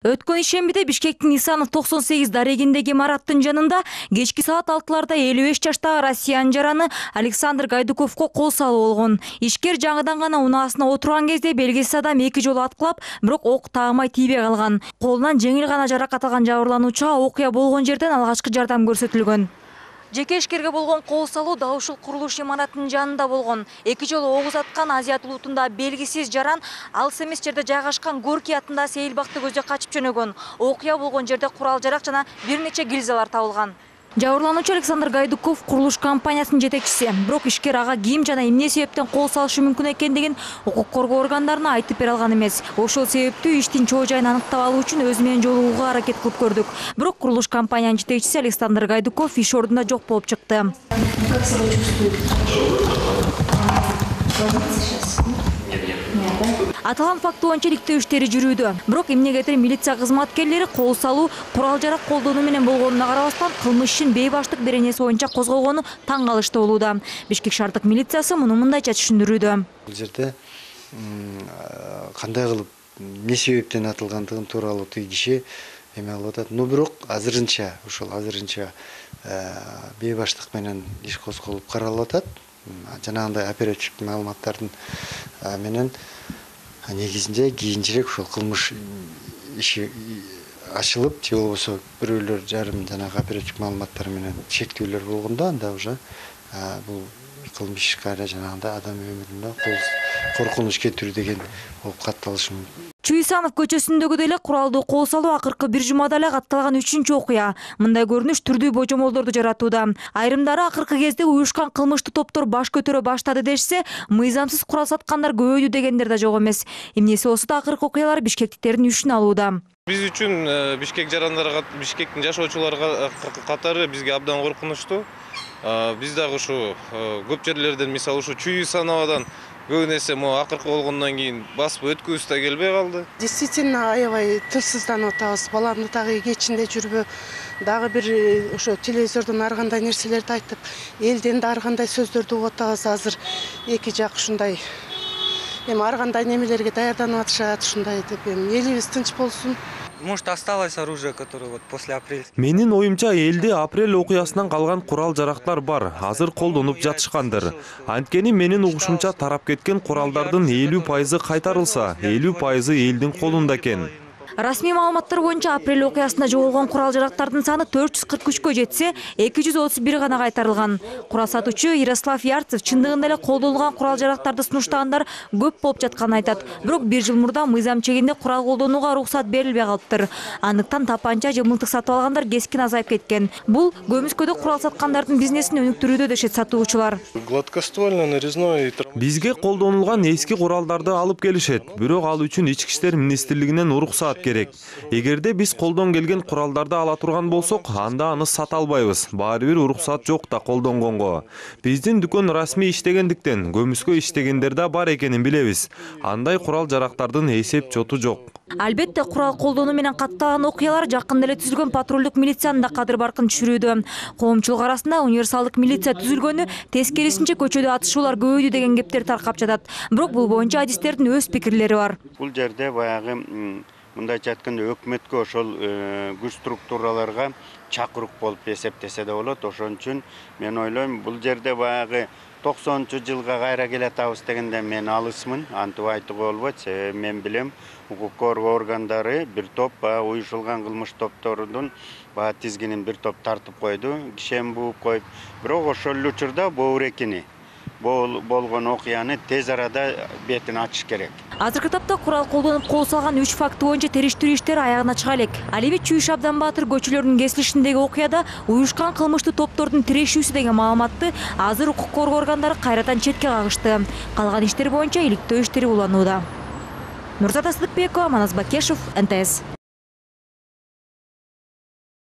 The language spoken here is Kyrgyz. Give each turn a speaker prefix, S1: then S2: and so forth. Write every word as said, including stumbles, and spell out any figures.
S1: Өткөн ишембиде Бишкектин Нисанов токсон сегиз дарегиндеги имараттын жанында кечки саат алтыларда элүү беш жаштагы россиян жараны Александр Гайдуковго кол салуу болгон. Ишкер жаңыдан гана унаасына отурган кезде белгисиз адам эки жолу аткылап, бирок ок таамай тийбей калган. Колунан жеңил гана жаракат алган жабырлануучуга окуя болгон жерден алгачкы жардам көрсөтүлгөн. Жеке ишкерге болгон кол салуу дал ушул курулуш имараттын жанында болгон. Эки жолу ок узаткан Азият улутунда белгисиз жаран алыс эмес жерде жайгашкан Горький атындагы сейилбакты көздөй качып жөнөгөн. Окуя болгон жерде курал-жарак жана бир нече гильзалар табылган. Жабырлануучу Александр Гайдуков курулуш компаниясынын жетекчиси. Бирок ишкер ага ким жана эмне себептен кол салышы мүмкүн экендигин укук коргоо органдарына айтып бере алган эмес. Ошол себептүү иштин чоо жайын аныктап алуу үчүн өзү менен жолугууга аракет кылып көрдүк. Бирок курулуш компаниянын жетекчиси Александр Гайдуков иш ордунда жок болуп чыкты.
S2: Как себя чувствуете?
S1: Аталган факт боюнча иликтөө иштери жүрүүдө. Бирок эмнегедир милиция кызматкерлери кол салуу курал-жарак колдонуу менен болгонуна карабастан кылмыш ишин бейбаштык беренеси боюнча козгогону таң калыштуу болууда. Бишкек шаардык милициясы муну мындайча түшүндүрүүдө.
S3: Бул жерде кандай кылып эмне себептен атылгандыгын тууралуу тиги киши эме алып атат. Но бирок азырынча ушул азырынча бейбаштык менен иш козголуп каралып атат. Жанагындай оперативдик маалыматтардын менен негизинде кийинчерээк ушул кылмыш иши ачылып, же болбосо бирөөлөр жарым жанагы оперативдик маалыматтар менен чектөөлөр болгондо анда уже бул кылмыш ишкара жанагындай адам өмүрүнө коркунуч кетирүү деген болуп катталышы мүмкүн.
S1: Чуйсанов көчөсүндөгүдөй эле куралдуу кол салуу акыркы бир жумада эле катталган үчүнчү окуя. Мындай көрүнүш түрдүү божомолдорду жаратууда. Айрымдары акыркы кезде уюшкан кылмыштуу топтор баш көтөрө баштады дешсе, мыйзамсыз курал саткандар көбөйдү дегендер да жок эмес. Эмнеси болсо да акыркы окуялар бишкектиктердин үчүн алууда.
S4: Биз үчүн Бишкек жарандары, Бишкектин жашоочулары катары бизге абдан коркунучтуу. Биз дагы ушу көп жерлерден, мисалы ушу Чуйсановадан көп нерсе могу акыркы болгондон кийин басып өткүбүз да келбей калды.
S2: Действительно аябай тынчсызданып атабыз. Баламды дагы кечинде жүрбө, дагы бир ошо телевизордон ар кандай нерселерди айтып, элден да ар кандай сөздөрдү угуп атабыз. Азыр эки жак ушундай эми ар кандай немелерге даярданып атышат, ушундай деп эми элибиз тынч болсун.
S5: Может, осталось оружие, которое вот после апреля.
S6: Менин оюмча элде апрель окуясынан калган курал-жарактар бар, азыр колдонуп жатышкандыр. Анткени менин угушумча тарап кеткен куралдардын элүү пайызы кайтарылса, элүү пайызы элдин колунда экен.
S1: Расмий маалыматтар боюнча апрель окуясында жоголгон курал-жарактардын саны төрт жүз кырк үчкө жетсе, эки жүз отуз бир гана кайтарылган. Курал сатуучу Ярослав Ярцев чындыгында эле колдонулган курал-жарактарды сунуштагандар көп болуп жатканын айтат. Бирок бир жыл мурда мыйзам чегинде курал колдонууга уруксат берилбей калыптыр. Андыктан тапанча же мылтык сатып алгандар кескин азайып кеткен. Бул көмүскөдө курал саткандардын бизнесин өнүктүрүүдө дешет сатуучулар.
S4: Гладкоствольный, нарезной.
S6: Бизге колдонулган эски куралдарды алып келишет, бирок ал үчүн Ички иштер министрлигинен уруксат керек. Эгерде биз колдон келген куралдарды ала турган болсок, анда аны сата албайбыз. Баары бир уруксат жок да колдонгонго. Биздин дүкөн расмий иштегендиктен көмүскө иштегендер да бар экенин билебиз. Андай курал-жарактардын эсеп-чоту жок.
S1: Албетте, курал колдонуу менен катталган окуялар жакында эле түзүлгөн патрулдук милициянын да кадыр баркын түшүрүүдө. Коомчулук арасында универсалдык милиция түзүлгөнү, тескерисинче көчөдө атышуулар көбөйдү деген кептер таркап жатат. Бирок бул боюнча адистердин өз пикирлери бар.
S7: Бул жерде баягы мындайча айтканда өкмөткө ошол күч структураларга чакырук болуп эсептесе да болот. Ошон үчүн мен ойлойм, бул жерде баягы токсонунчу жылга кайра келатабыз дегенде мен алысмын, антип айтууга болбойт. Себеби мен билем, укук коргоо органдары бир топ уюшулган кылмыш топторунун тизгинин бир топ тартып койду, кишен бууп коюп. Бирок ошол эле учурда боорекини болгон окуяны тез арада бетин ачыш керек.
S1: Азыркы тапта курал колдонуп кол салган үч факты боюнча териштирүү иштери аягына чыга элек. Ал эми Чүйүш Абданбаатыр көчөлөрүнүн кесилишиндеги окуяда уюшкан кылмыштуу топтордун тирешүүсү деген маалыматты азыр укук коргоо органдары кайрадан четке кагышты. Калган иштер боюнча иликтөө иштери уланууда. Нурзата Сыдыкбекова, Манас Бакешев, эн тэ эс.